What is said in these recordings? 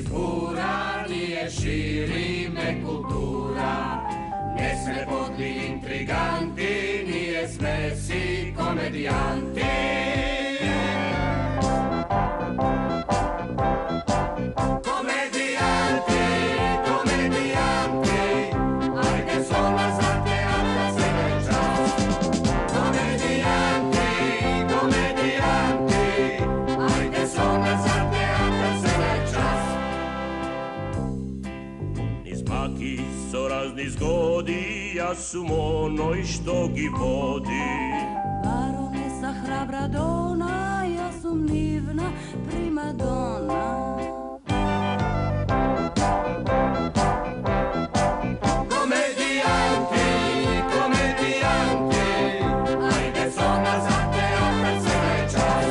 iz bura, nije širime kultura. Ne sme podli intriganti, nije sme si komedijanti. Zgodi, ja sum onoj što gi vodi. Baronesa hrabra dona, ja sum divna primadona. Komedijanti, komedijanti, ajde sona za teatr se večas.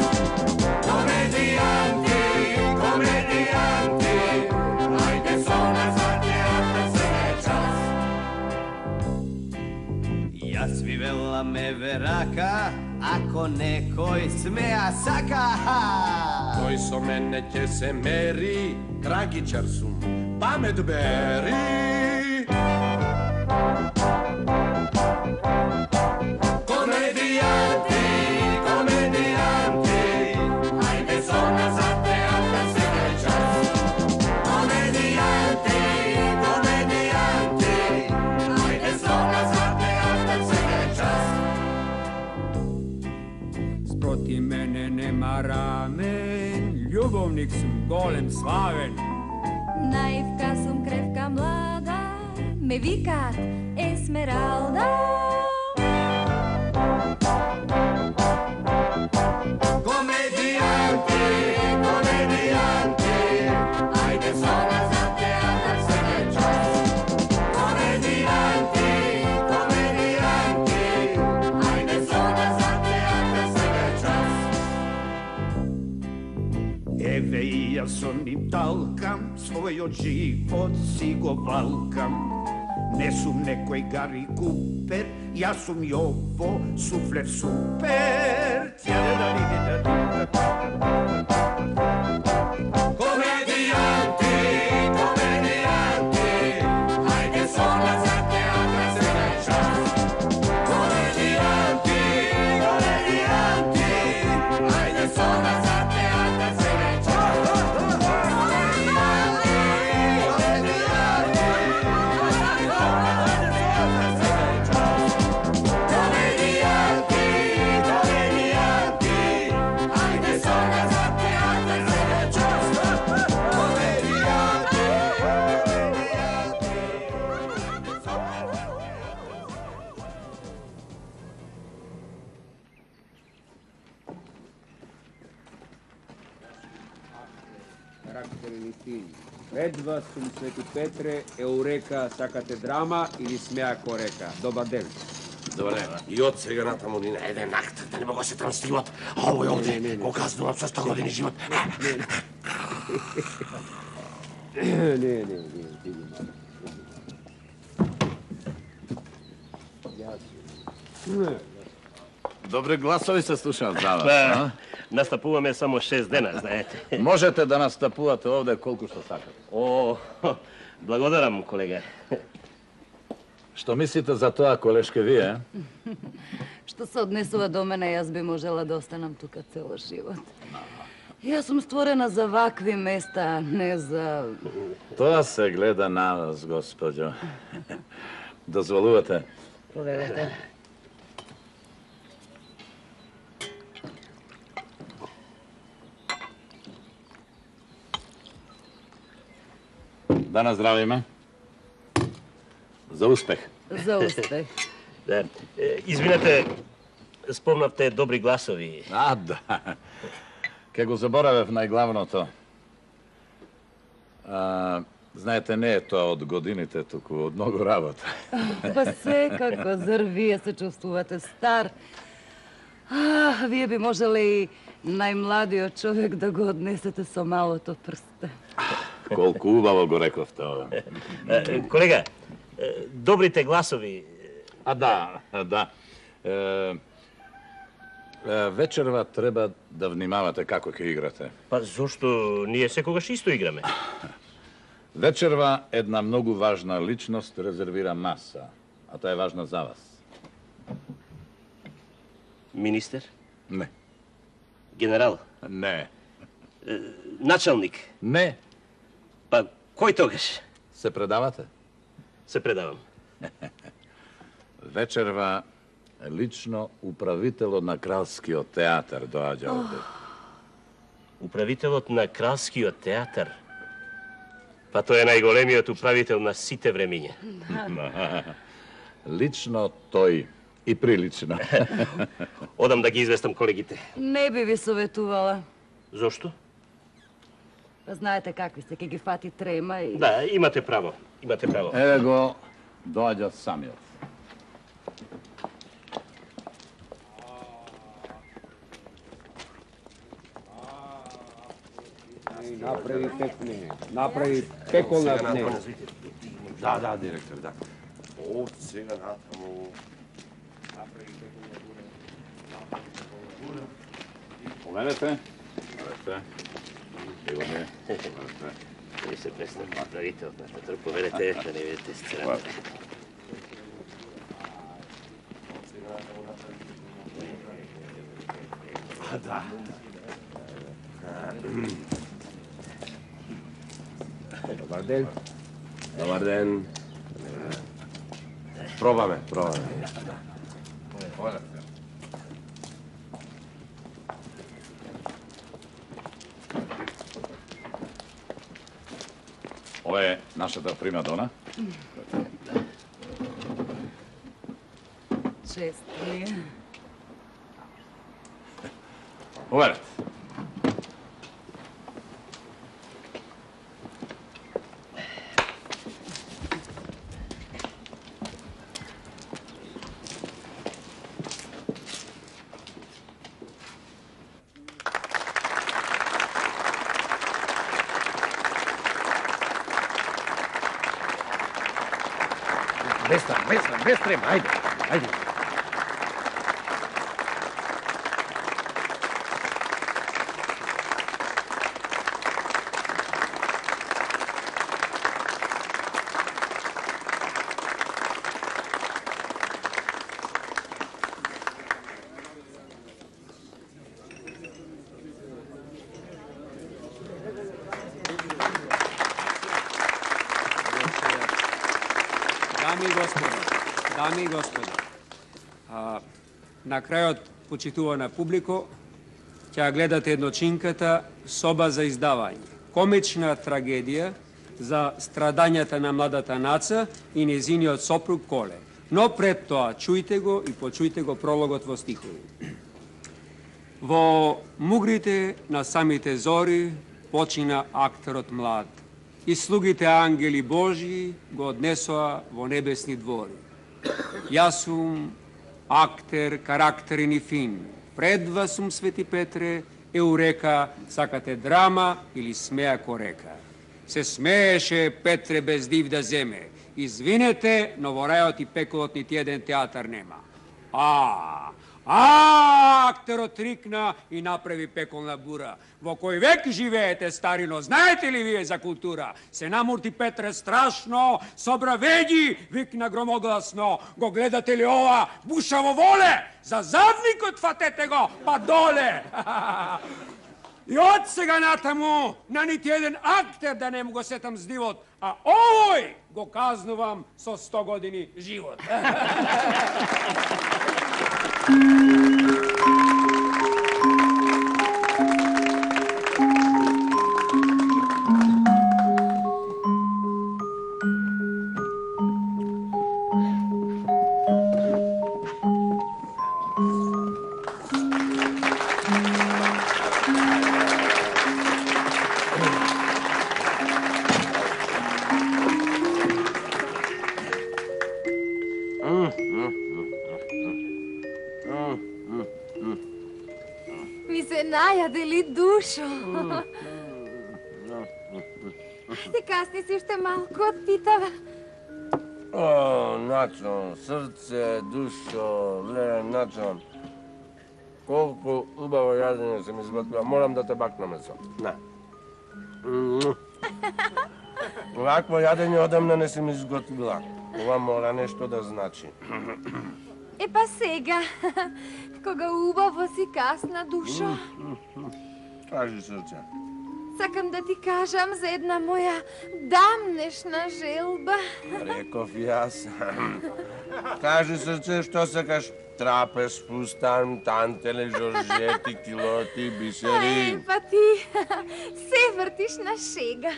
Komedijanti, komedijanti, ajde sona za teatr se večas. Ja svivela me veraka, ako nekoj smeja saka. Koji so mene će se meri, tragičar sum, pamet beri. Komedijanti, komedijanti, ajde zona za teatr se večas. Komedijanti, komedijanti, ajde zona za teatr se večas. Sproti mene nema ramen, ljubovnik sum golem slaven. Naivka sum krevka mlada, me vikat Esmeralda. Komedijanti, komedijanti, ajde zona za teatr se večas. Komedijanti, komedijanti, ajde zona za teatr se večas. Еве и јас со нив талкам, својот живот си го валкам. Не сум некој Гари Купер, јас сум Јово Суфлер Супер. Komedijanti, komedijanti, ajde zona za teatr se večas. Komedijanti, komedijanti, ajde zona za teatr se večas. Komedijanti, komedijanti, ajde zona za teatr se večas. Komedijanti, komedijanti, ajde zona za teatr se večas. Карактерни филм. Пред вас сум Свети Петре, Еурека, сакате драма или смеа ко река. Добар ден. Добре, и од сега натаму ни на еден акт, да не мога се трансливат, а овој овде го казнувам со 100 години живот. Не, Добри гласови се слушаат за вас. Настапуваме само 6 дена, знаете. Можете да настапувате овде колку што сакате. О, благодарам, колега. Што мислите за тоа, колешке, вие? Што се однесува до мене, јас би можела да останам тука цело живот. Јас сум створена за вакви места, не за... Тоа се гледа на вас, господјо. Дозволувате? Повелете. Да наздравиме. За успех. За успех. Да. Извинете, спомнавте добри гласови. Да. Ке го заборавев најглавното. Знаете, не е тоа од годините, туку од многу работа. Па секако, зар вие се чувствувате стар? Вие би можеле и најмладиот човек да го однесете со малото прсте. Колку убаво го рековте ова. Колега, добрите гласови... Да. Вечерва треба да внимавате како ќе играте. Па зошто ние секогаш исто играме? Вечерва една многу важна личност резервира маса, а таа е важна за вас. Министер? Не. Генерал? Не. Началник? Не. Па, кој тогаш? Се предавате? Се предавам. Вечерва лично управителот на Кралскиот театар доаѓа овде. Управителот на Кралскиот театар? Па тој е најголемиот управител на сите времиња. Лично тој и прилично. Одам да ги известам колегите. Не би ви советувала. Зошто? Знаете какви се, ке ги фати трема и... Да, имате право. Имате право. Еве го, доаѓа самиот. Направи пекне. Направи пеколна пне. Да, директор, да. Од сега натаму. Поменете. Вие се представите од нашата трупа, поверете да не видите сцената. Да. Добар ден. Добар ден. Пробаме. Ова е нашата примадона. Чест ми е. Поверете. Без трема, ајде. Дами и господа, на крајот, почитувана публико, ќе гледате едночинката Соба за издавање. Комична трагедија за страдањата на младата наца и незиниот сопруг Коле. Но пред тоа, чујте го и почујте го прологот во стихови. Во мугрите на самите зори почина актерот млад и слугите ангели Божии го однесоа во небесни двори. Јас сум актер, карактерен и фин. Пред вас сум, Свети Петре, Еурека, сакате драма или смеа корека. Се смееше Петре без див да земе. Извинете, но во рајот и пеколот нити еден театар нема. Актерот рикна и направи пеколна бура. Во кој век живеете, старино, знаете ли вие за култура? Се намурти Петре страшно, собра веѓи, викна громогласно. Го гледате ли ова? Бушаво воле! За задникот фатете го, па доле! И од сега натаму, на нити еден актер да не му го сетам здивот, а овој го казнувам со 100 години живот. Најаде ли, душо? Ајде, касни си уште малку од питава. Начон, срце, душо, леле, начон. Колку убаво јадење се ми сготвила, морам да те бакнам со. На. Овакво јадење одамна не си ми изготвила. Ова мора нешто да значи. Па сега, кога убаво си касна, душо. Кажи, срце. Сакам да ти кажам за една моја дамнешна желба. Реков јас. Кажи, срце, што сакаш? Трапез, фустан, тантеле, жоржети, килоти, бисери. Па ти се вртиш на шега.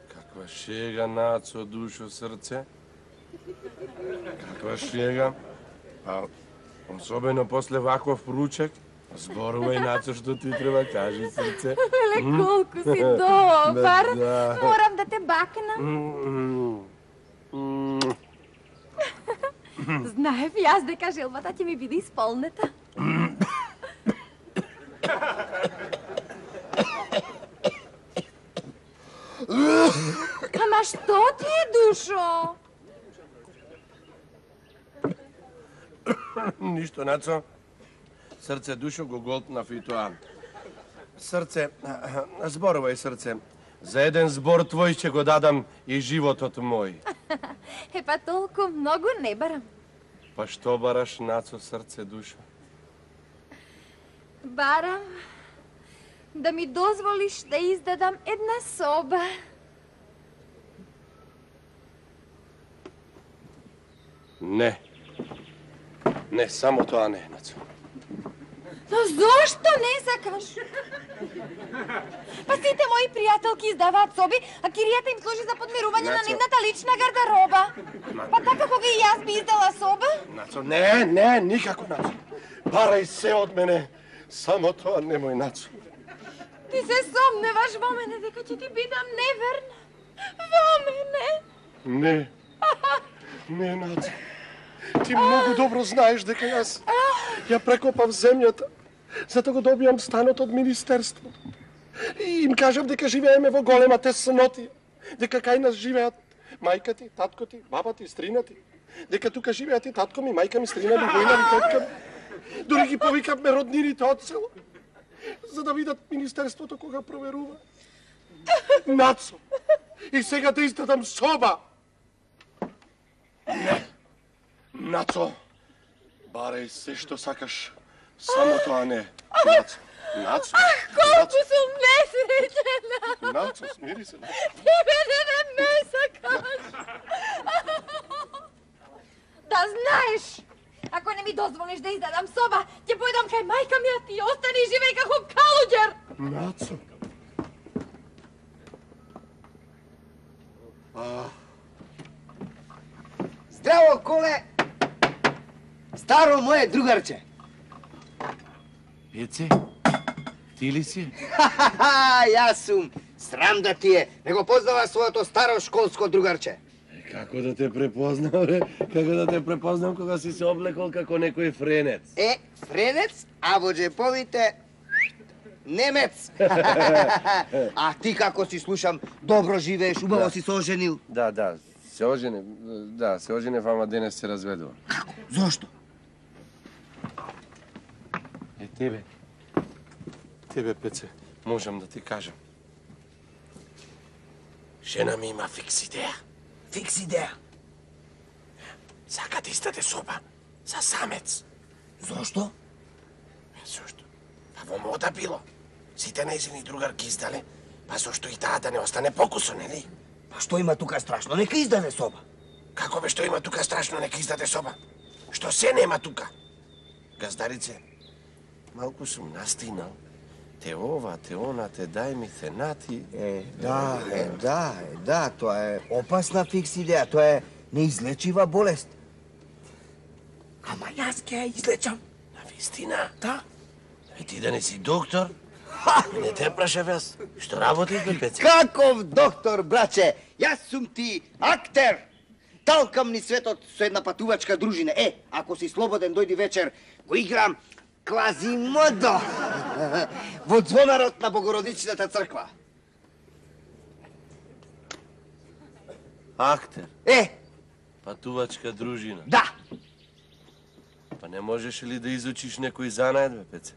Каква шега, Нацо, душо, срце? Каква шега? А особено после ваков ручек, зборувај, Нацо, што ти треба, кажи, срце. Леле, колку си добар. Морам да те бакнам. Знаев јас дека желбата ќе ми биде исполнета. Ама што ти е, душо? Ништо, Нацо. Срце, душо, го голтнав и тоа. Срце, зборувај, срце. За еден збор твој ќе го дадам и животот мој. Па толку многу не барам. Па што бараш, Нацо, срце, душо? Барам да ми дозволиш да издадам една соба. Не. Не, само тоа не, Нацо. Но зошто не сакаш? Па сите мои пријателки издаваат соби, а киријата им служи за подмирување на нивната лична гардероба. Па така кога и јас би издала соба? Нацо, не, никако, Нацо. Барај се од мене, само тоа немој, Нацо. Ти се сомневаш во мене дека ќе ти бидам неверна. Во мене? Не, Нацо. Ти многу добро знаеш дека јас ја прекопав земјата, за да го добијам станот од министерство. И им кажав дека живееме во голема теснотија, дека кај нас живеат мајка ти, татко ти, баба ти, стрина ти, дека тука живеат и татко ми, мајка ми, стрина ми, војна ми, тетка ми. Дори ги повикавме роднините од село, за да видат министерството кога проверува. Нацо, и сега да издадам соба. Не. Нацо, барај се што сакаш, само тоа не. Нацо. Колку сум несреќена. Нацо, смири се. Ти мене не ме сакаш. Да знаеш, ако не ми дозволиш да издадам соба, ќе појдам кај мајка ми, а ти остани и живеј како калуѓер. Нацо. Здраво, Коле! Старо мое другарче! Пеце, ти ли си? Јас сум. Срам да ти е. Не го познава своето старо школско другарче. Како да те препознам, бе? Како да те препознам кога си се облекол како некој френец? Френец, а во джеповите немец. А ти како си слушам, добро живееш, убаво си се оженил. Да, се оженев, ама денес се разведува. Како? Зошто? Тебе, Пеце, можам да ти кажам. Жена ми има фикс идеја. Фикс идеја? Сака да издаде соба за самец. Зошто? Зошто? Па во мода било. Сите нејзини другарки издале, па зошто и таа да не остане покусо, нели? Па што има тука страшно? Нека издаде соба. Како бе што има тука страшно, нека издаде соба? Што се нема тука? Газдарице, малку сум настинал. Те ова, те она, те дај ми, те нати. Да, тоа е опасна фикс идеја, тоа е неизлечива болест. Ама јас ќе ја излечам. Навистина? Да. И ти да не си доктор? Не те прашав јас. Што работиш, бе, Пеце? Каков доктор, браче? Јас сум ти актер. Талкам ни светот со една патувачка дружина. Ако си слободен, дојди вечер, го играм Квазимодо во звонарот на Богородичната црква. Актер? Патувачка дружина? Да. Па Па не можеш ли да изучиш некој занает, бе, Пеце?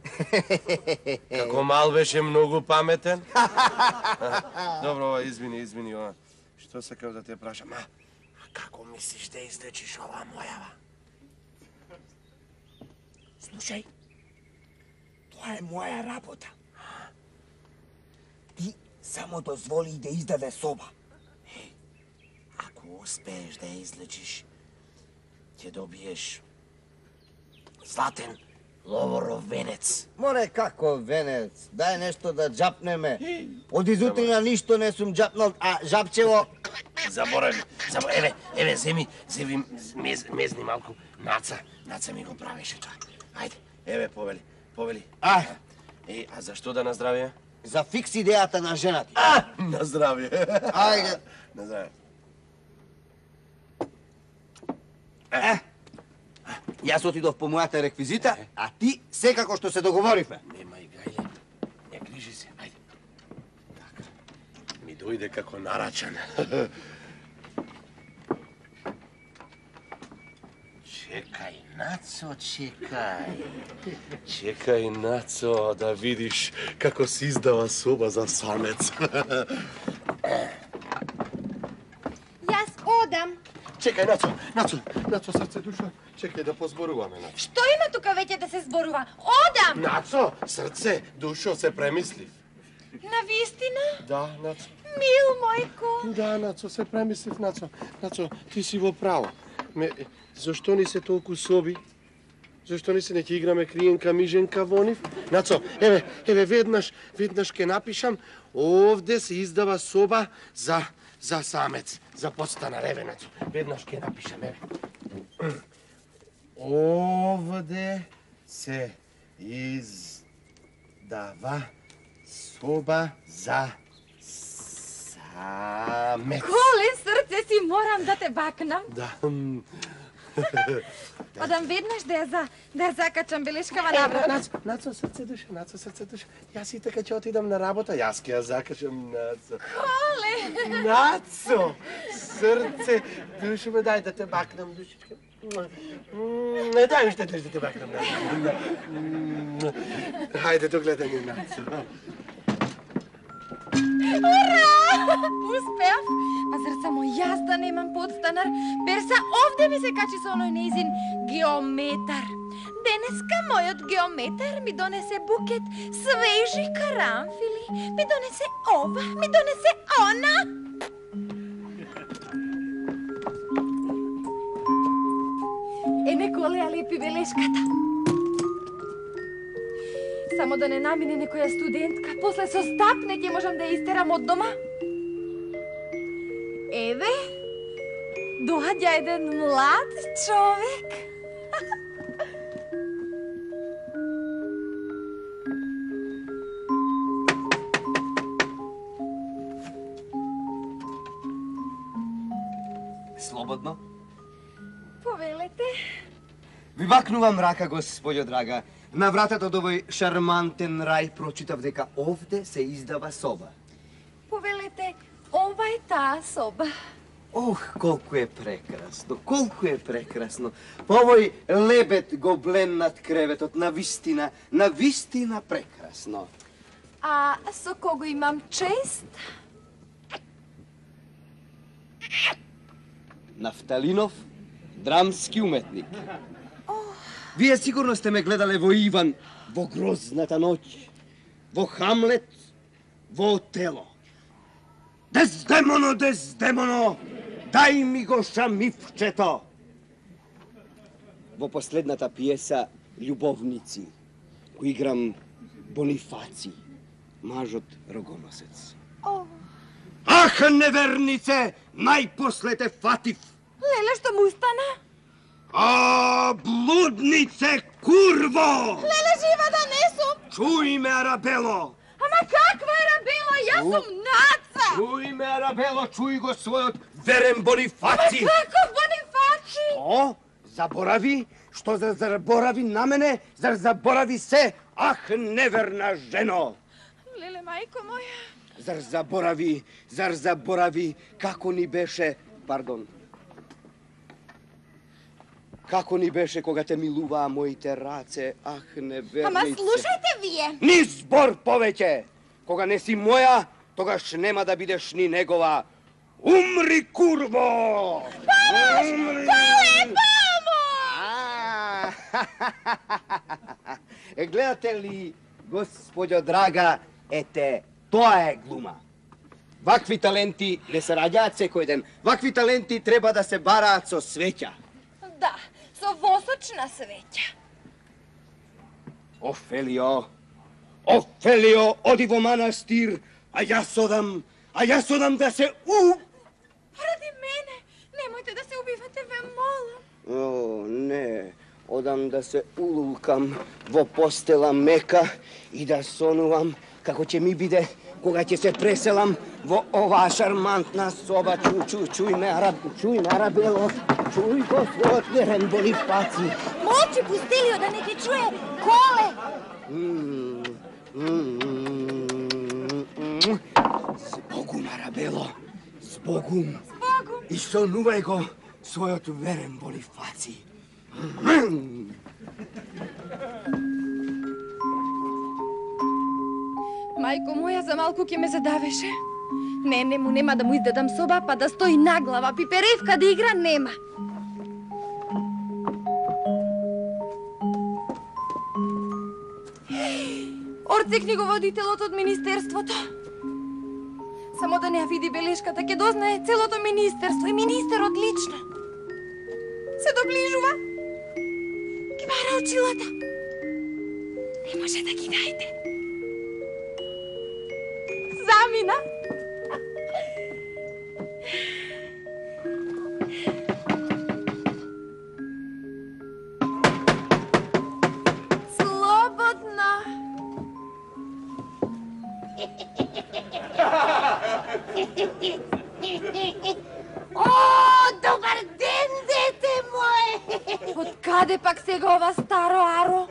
Како мал беше многу паметен. Добро, извини, ова. Што сакав да те прашам? А како мислиш да излечиш оваа мојава? Слушај, тоа е моја работа. Ти само дозволи да издаде соба. Ако успееш да ја излечиш, ќе добиеш златен ловоров венец. Море, како венец? Дај нешто да джапнеме. Од изутрина ништо не сум джапнал, а жапчево... Заборави. Еве, земи, мезни малку. Наца ми го правеше тоа. Ајде, еве, повели. А зашто да наздравија? За фикс идејата на жената. На здравје. Ајде. На здравје. Јас отидов по мојата реквизита, а ти секако што се договоривме. Немај гајле, не грижи се, ајде. Така, ми дојде како нарачан. Чекај, Нацо, чекај. Чекај, Нацо, да видиш како се издава соба за самец. Јас одам. Чекај, Нацо, срце душа, чекај да позборуваме, Нацо. Што има тука веќе да се зборува? Одам! Нацо, срце, душо, се премислив. На вистина? Да, Нацо. Мил, мојко. Да, Нацо, се премислив, Нацо. Нацо, ти си во право. Зашто ни се толку соби? Зашто ни се не ќе играме криенка, миженка во нив? Нацо, еве, веднаш ќе напишам, овде се издава соба за самец, за подстанар, еве, Нацо. Веднаш ќе напишам, еве. Овде се издава соба за самец. Коле, срце си, морам да те бакнам. Да. Одам веднаш да ја закачам белешкава навратна. Нацо, срце душа. Јас и така ќе отидам на работа, јас ќе ја закачам, Нацо. Коле! Нацо, срце душа, дај да те бакнам, душичка. Не дај уште да те бакнам, Нацо. Хајде, до гледање, Нацо. Ура! Успеав! Па зар само јас да немам подстанар? Берса овде ми се качи со оној нејзин геометар. Денеска мојот геометар ми донесе букет свежи карамфили. Ми донесе ова, ми донесе она. Коле, ја лепи белешката. Само да не намине некоја студентка, после со стапне ќе можам да ја истерам од дома. Еве, доаѓа еден млад човек. Слободно. Повелете. Ви бакнувам рака, господјо драга. На вратата од овој шармантен рај прочитав дека овде се издава соба. Повелете, ова е таа соба. Ох, колку е прекрасно, колку е прекрасно. По овој лебед гоблен над креветот, на вистина прекрасно. А со кого имам чест? Нафталинов, драмски уметник. Вие сигурно сте ме гледале во Иван, во Грозната ноќ, во Хамлет, во Отело. Дездемоно, Дездемоно, дај ми го шамифчето. Во последната пиеса Љубовници го играм Бонифаци, мажот рогоносец. Ах, невернице, најпосле те фатив. Леле, што му стана? А, блуднице, курво! Леле, жива да не сум! Чуј ме, Арабело! Ама каква Арабела? Јас сум Наца! Чуј ме, Арабело, чуј го својот верен Бонифаци! Ама каков Бонифаци? Што? Заборави? Што зар заборави на мене? Зар заборави се? Ах, неверна жено! Леле, мајко моја! Зар заборави како ни беше, пардон, Како ни беше кога те милуваа моите раце, ах, невернице. Ама слушајте вие. Ни збор повеќе! Кога не си моја, тогаш нема да бидеш ни негова. Умри, курво! Помош! Поле, Гледате ли, господјо драга, ете, тоа е глума. Вакви таленти не се раѓаат секој ден. Вакви таленти треба да се бараат со свеќа. Да, со восочна свеќа. Офелио, оди во манастир, а јас одам да се Ради мене, немојте да се убивате, ве молам. О, не, одам да се улулкам во постела мека и да сонувам како ќе ми биде кога ќе се преселам во оваа шармантна соба. Чуј ме, Арабело, чуј го својот верен Бонифаци. Молчи, Пустелио, да не ги чуе Коле. Збогум, Арабело, збогум. И сонувај го својот верен Бонифаци. Мајко моја, за малку ќе ме задавеше. Не, нема да му издадам соба, па да стои наглава, пиперевка да игра нема. Орце книговодителот од министерството. Само да не ја види белешката, ќе дознае целото министерство и министерот лично. Се доближува. Ги бара очилата. Не може да ги најде. Замина. Слободно. О, добар ден, дете мое! Од каде пак сега ова старо аро?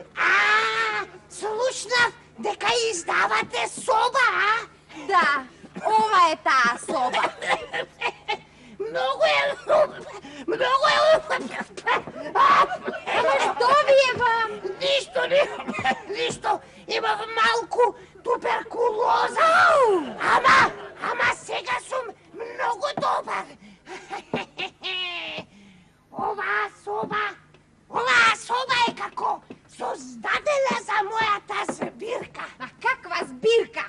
Слушнав дека издавате соба, а? Да, ова е таа соба. Многу е Ама што ви е вам? Ништо, имав малку туберкулоза. Ама сега сум многу добар. Оваа соба е како создадена за мојата збирка. А каква збирка?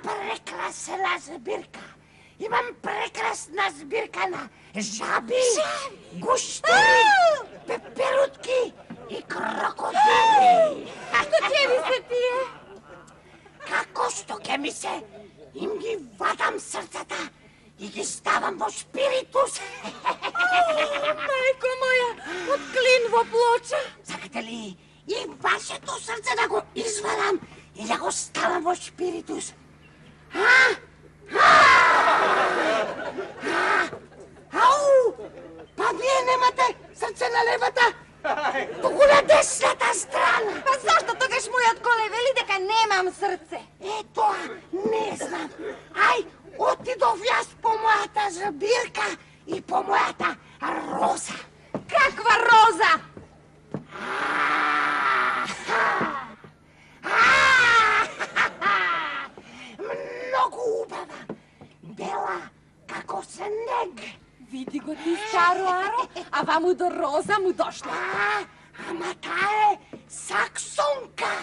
Прекрасна збирка. Имам прекрасна збирка на жаби, гуштери, пеперутки и крокодили. Што ќе ви се тие? Како што ќе ми се, им ги вадам срцата и ги ставам во спиритус. Мајко моја, од клин во плоча. Сакате ли и вашето срце да го извадам и да го ставам во спиритус? Ау! Па вие немате срце на левата, туку на десната страна. Па зашто тогаш мојот Коле вели дека немам срце? Тоа не знам. Ај, отидов јас по мојата збирка и по мојата роза. Каква роза? Многу убава, бела како снег. Види го ти старо аро, а ваму до роза му дошла. Ама таа е саксонка.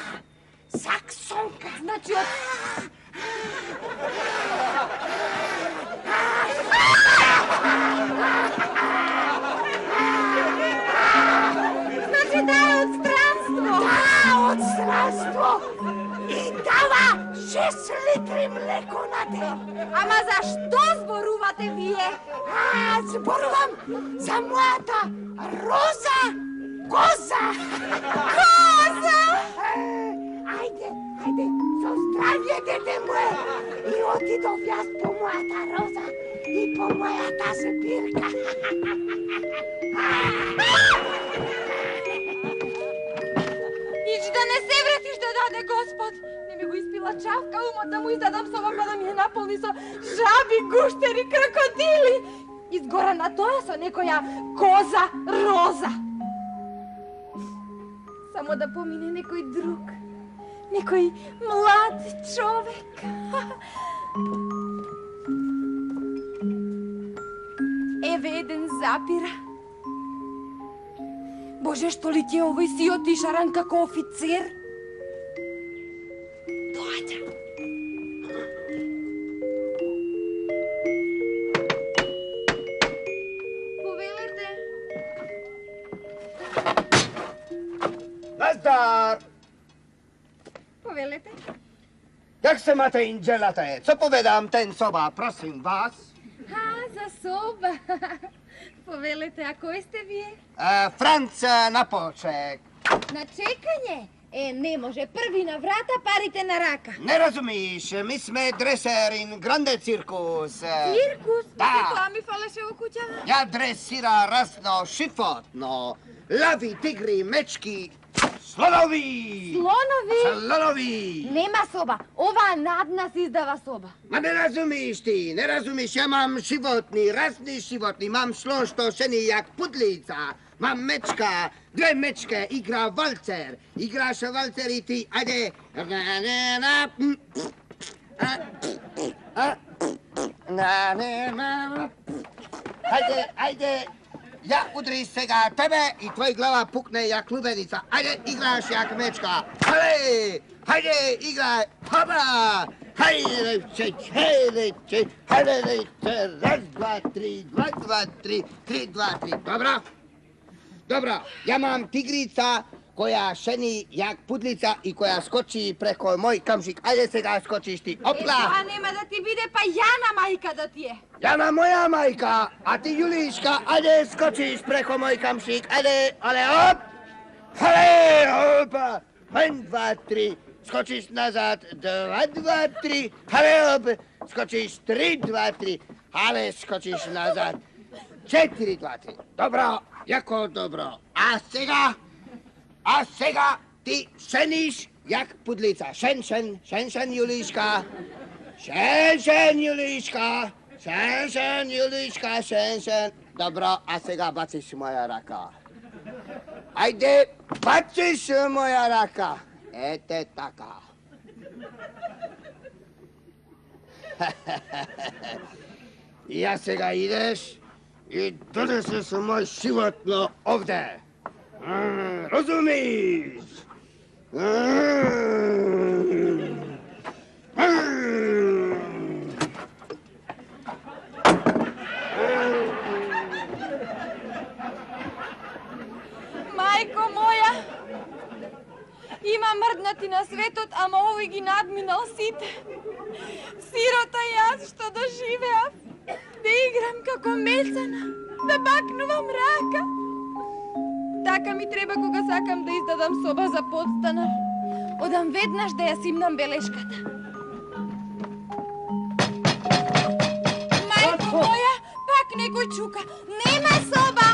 Значи од... Значи таа е од странство. Од странство. И дава 6 литри млеко на ден. Ама зашто зборувате вие? Зборувам за мојата роза коза. Коза! Ајде, со здравје, дете мое. И отидов јас по мојата роза и по мојата збирка. Ич да не се вратиш да даде Господ. Не ми го испила чавка умот да му издадам соба па да ми ја наполни со жаби, гуштери, крокодили. изгора на тоа со некоја коза роза. Само да помине некој друг, некој млад човек. Еве еден запира. Боже, што ли ќе овој си отишаран како офицер? Доаѓа. Повелете. Наздар! Повелете. Как се мате инджелата е? Со поведам тен соба, просим вас. За соба. Повелете, а кој сте вие? Франц на почек. На чекање? Не може. Први на врата, парите на рака. Не разумиш, ми сме дресерин гранде циркус. Циркус? Да. Тоа ми фалеше во куќава. Ја дресира разно шифотно. Лави, тигри, мечки, слонови! Слонови? Нема соба. Оваа над нас издава соба. Ма не разумиш ти, не разумиш. Ја мам животни, разни животни. Мам слон што шени јак пудлица. Мам мечка, две мечке, игра валцер. Играше валцер и ти, ајде. Ајде. Ја удри сега тебе и твој глава пукне јак лубеница. Ајде, играш јак мечка. Хајде, играј. Хоба! Хајде, раз, два, три, три, два, три. Добро. Ја мам тигрица која шени јак пудлица и која скочи преко мој камшик. Ајде сега скочиш ти. Опла! Тоа нема да ти биде, па Јана мајка да ти е. Јана моја мајка, а ти Јулишка, ајде скочиш преко мој камшик. Ајде, оп! Опа! 1, 2, 3. Скочиш назад. 2, 2, 3. Оп! Скочиш 3, 2, 3. Скочиш назад. 4, 2, 3. Добро, јако добро. А сега ти шениш јак пудлица. Шен, Јулишка. Шен, Јулишка. Шен. Добро, а сега бациш моја рака. Ајде, бациш моја рака. Ете така. Ја сега идеш и донесеш мој животно овде. Разумиш? Мајко моја, има мрднати на светот, ама овој ги надминал сите. Сирота јас што доживеав, да играм како мецана, да бакнувам рака. Така ми треба кога сакам да издадам соба за подстанар. Одам веднаш да ја симнам белешката. Мајко моја, пак некој чука. Нема соба!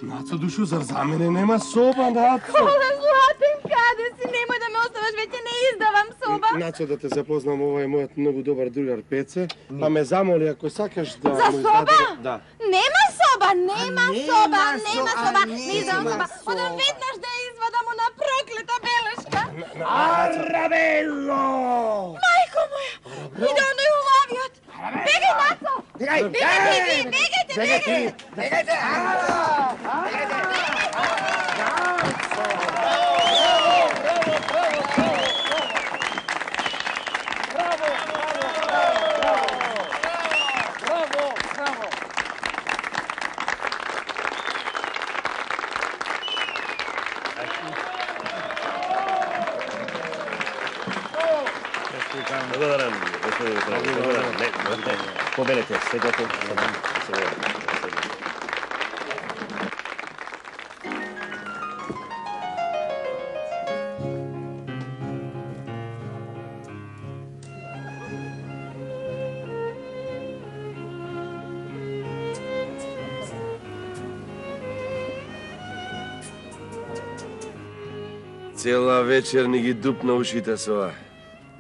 Нацо, душо, зар за мене нема соба, Нацо? Кола златен, каде си? Немој да ме оставаш, веќе не издавам соба. Нацо, да те запознам, ова е мојот многу добар другар Пеце, па ме замоли ако сакаш да... За соба? Да. Нема соба! Не издавам соба. Одам веднаш да ја извадам она проклета белешка. Арабело! Мајко моја! Иде оној улавиот! Бегај, Нацо! Бегајте! Благодарам, господин Повелете, седете. Цела вечер ни ги дупна ушите со ова.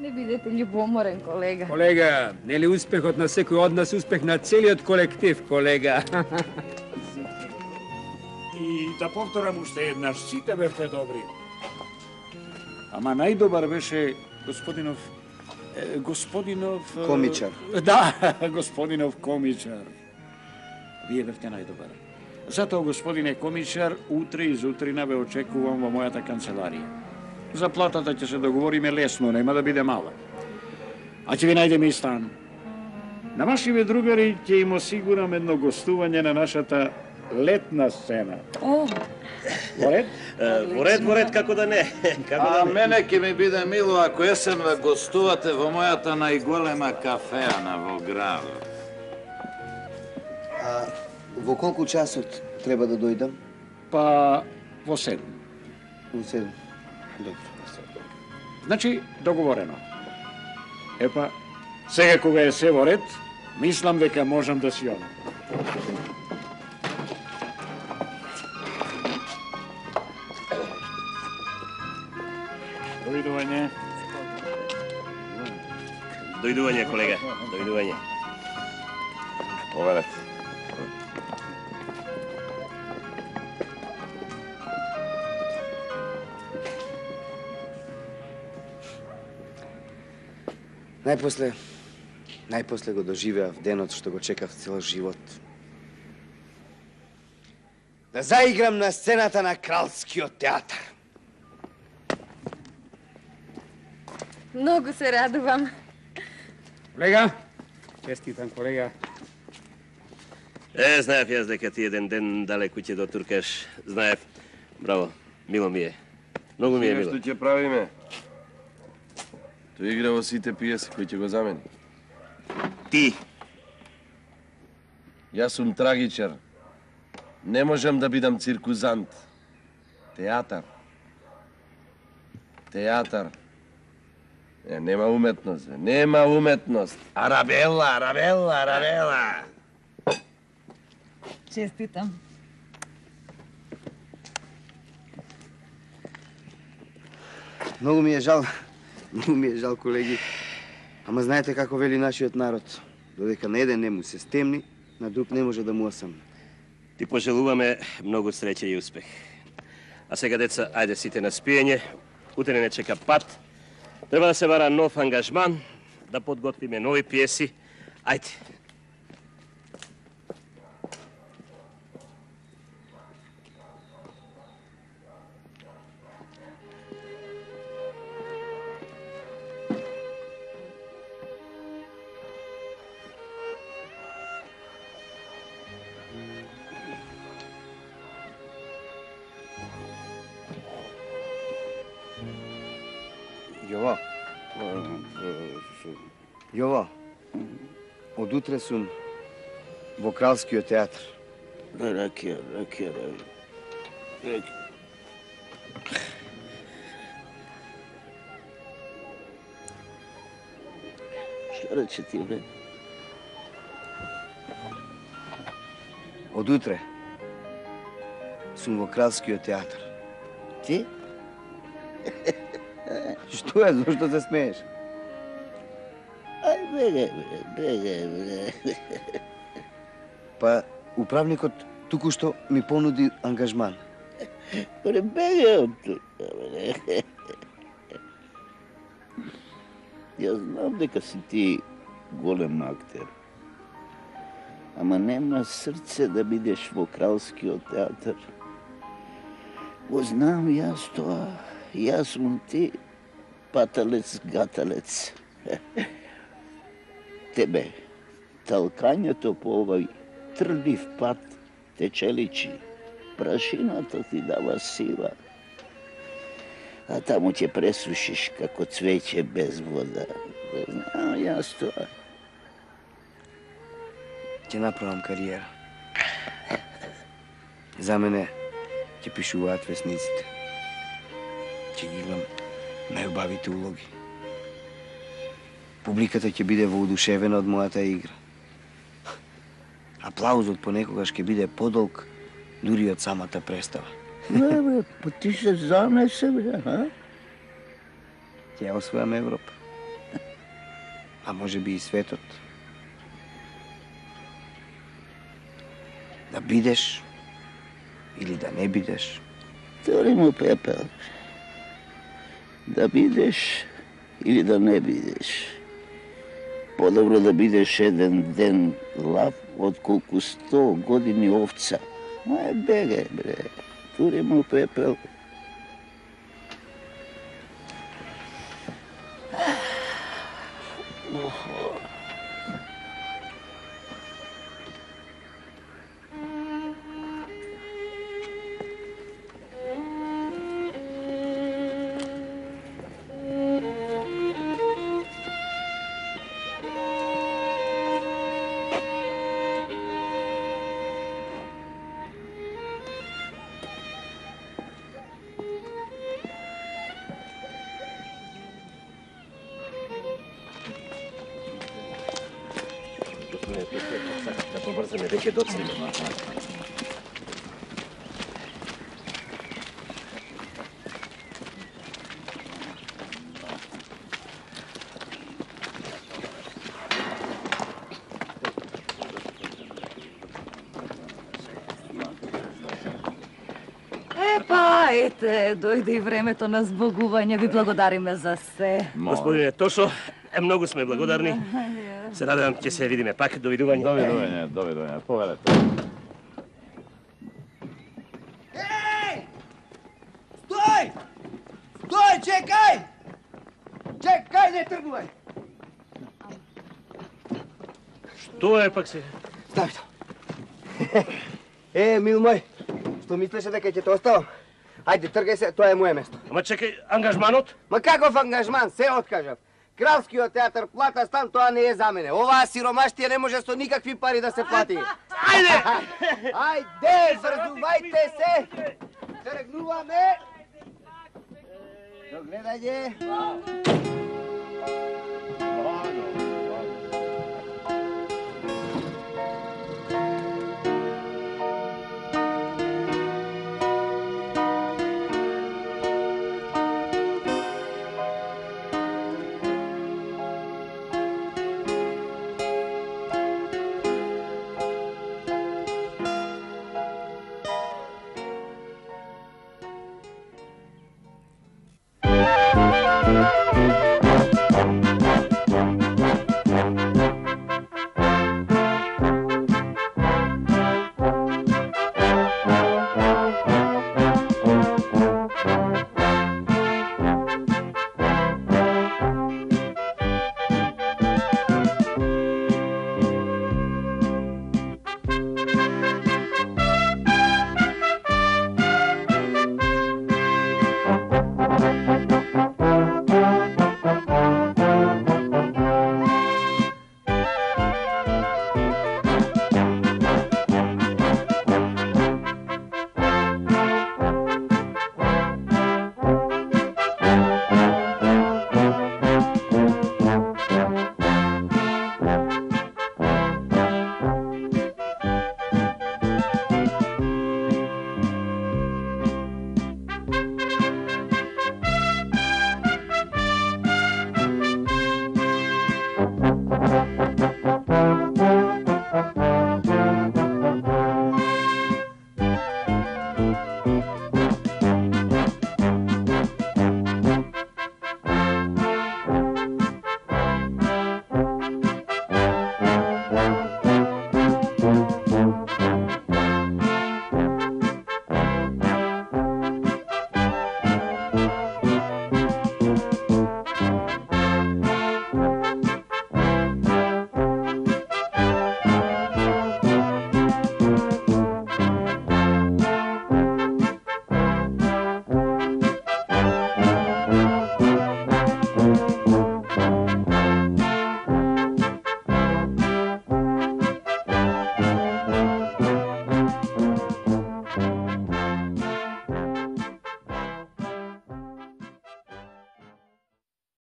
Не бидете љубоморен, колега. Колега, нели успехот на секој од нас успех на целиот колектив, колега? И да повторам уште еднаш, сите бевте добри. Ама најдобар беше господинов... Комичар. Да, господинов Комичар. Вие бевте најдобар. Затоа, господине Комичар, утре и зутрина ве очекувам во мојата канцеларија. За платата ќе се договориме лесно, нема да биде мала. А ќе ви најдеме и стан. На вашиве другари ќе им осигурам едно гостување на нашата летна сцена. О! Во ред, како да не. А мене ќе ми биде мило ако есен ве гостувате во мојата најголема кафеана во градот. А во колку часот треба да дојдам? Па во 7. Во 7. Добро. Значи, договорено. Епа, сега кога е се во ред, мислам дека можам да си одам. Дојдување. Дојдување, колега, дојдување. Повелете. Најпосле го доживеав денот што го чекав цел живот. Да заиграм на сцената на Кралскиот театар. Многу се радувам. Колега, честитам, колега. Знаев јас дека ти еден ден далеку ќе дотуркаш. Знаев. Браво, мило ми е. Многу ми е мило. Што ќе правиме? Тој игра во сите пиеси кој ќе го замени. Ти. Јас сум трагичар. Не можам да бидам циркузант. Театар. Нема уметност, нема уметност. Арабела. Честитам. Многу ми е жал, колеги. Ама знаете како вели нашиот народ. Додека на еден не му се стемни, на друг не може да му осамни. Ти пожелуваме многу среќа и успех. А сега, деца, ајде сите на спиење. Утре не чека пат. Треба да се бара нов ангажман, да подготвиме нови пиеси. Ајде. Јово, од утре сум во Кралскиот театар. Ракија. Што рече ти, бре? Од утре сум во Кралскиот театар. Ти? Што е, зошто се смееш? Беге. Па, управникот туку што ми понуди ангажман. Беге од тука, бре. Јас знам дека си ти голем актер. Ама нема срце да бидеш во Кралскиот театар. Го знам јас тоа. Јас сум ти паталец-гаталец. Тебе, талкањето по овој трлив пат те челичи. Прашината ти дава сила. А таму ќе пресушиш како цвеќе без вода. Знам јас тоа. Ќе направам кариера. За мене ќе пишуваат весниците. Ќе ги играм најубавите улоги. Публиката ќе биде воодушевена од мојата игра. Аплаузот понекогаш ќе биде подолг дури од самата представа. Бре, па ти се занесе, бре, а? Ќе освојам Европа. а може би и светот. Да бидеш или да не бидеш. Тори му пепел. Да бидеш или да не бидеш. Подобро да бидеш еден ден лав, отколку 100 години овца. Ма беге, бре. Тури му пепел. Да побрзаме, веќе доцнеме. Ете, дојде и времето на збогување. Ви благодариме за се. Господине Тошо, многу сме благодарни. Се надевам ќе се видиме пак. Довидување. Довидување. Повелете. Ей! Стој! Стој, чекај! Чекај, не тргувај! Што е пак се? Стави то. Мил мој, што мислеше дека ќе те оставам? Ајде, тргај се, тоа е моје место. Ама чекај, ангажманот? Ма каков ангажман? Се откажав. Кралскиот театар плата стан, тоа не е за мене. Оваа сиромаштија не може со никакви пари да се плати. Ајде! Ајде, врзувајте се! Тргнуваме! До гледање!